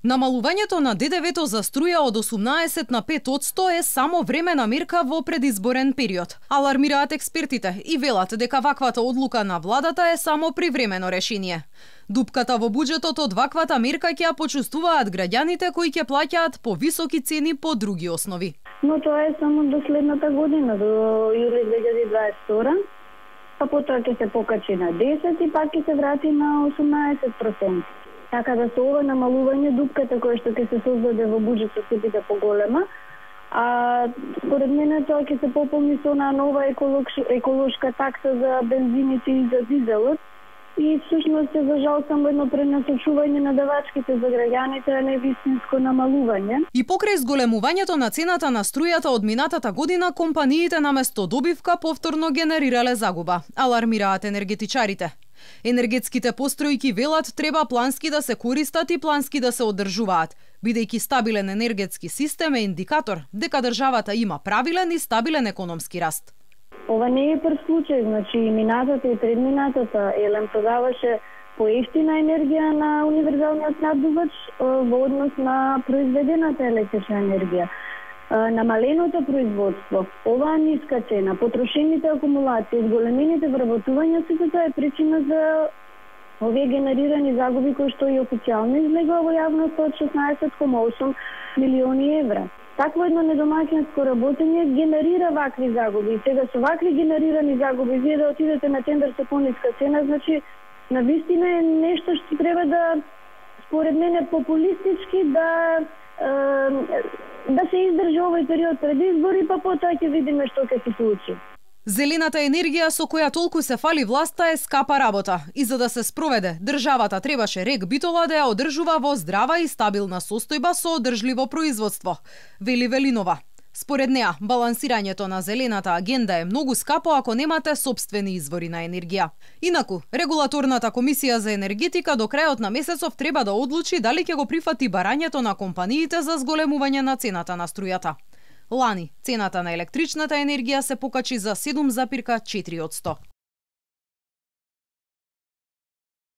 Намалувањето на ДДВ-то за струја од 18 на 5% е само времена мерка во предизборен период. Алармираат експертите и велат дека ваквата одлука на владата е само привремено решение. Дупката во буџетот од ваквата мерка ќе ја почувствуваат граѓаните кои ќе плаќаат по високи цени по други основи. Но тоа е само до следната година, до јули 2022, па потоа ќе се покачи на 10 и пак ќе се врати на 18%. Така да со ова намалување дупката која што ќе се создаде во буџетот ќе биде поголема, а според мене тоа ќе се пополни со нова еколошка такса за бензините и за дизелот и всушност е за жал само едно пренасочување на давачките за граѓаните, а не вистинско намалување. И покрај зголемувањето на цената на струјата од минатата година, компаниите наместо добивка повторно генерирале загуба, алармираат енергетичарите. Енергетските постројки велат треба плански да се користат и плански да се одржуваат, бидејќи стабилен енергетски систем е индикатор дека државата има правилен и стабилен економски раст. Ова не е прв случај, значи и минатата и предминатата ЕЛЕМ продаваше поевтина енергија на универзалниот снабдувач во однос на произведената електрична енергија. Намаленото производство, оваа ниска цена, потрошените акумулации, зголемените вработувања, сето тоа е причина за овие генерирани загуби кои што и официјално излегува во јавноста од 16,8 милиони евра. Такво едно недомаќинско работење генерира вакви загуби. Сега со вакви генерирани загуби вие да отидете на тендер со пониска цена, значи навистина е нешто што треба да, според мене, популистички да се издржи овој период пред избори, па потоа ќе видиме што ќе се случи. Зелената енергија со која толку се фали власта е скапа работа и за да се спроведе, државата требаше РЕК Битола да ја одржува во здрава и стабилна состојба со одржливо производство, вели Велинова. Според неа, балансирањето на зелената агенда е многу скапо ако немате сопствени извори на енергија. Инаку, Регулаторната комисија за енергетика до крајот на месецов треба да одлучи дали ќе го прифати барањето на компаниите за зголемување на цената на струјата. Лани, цената на електричната енергија се покачи за 7,4%.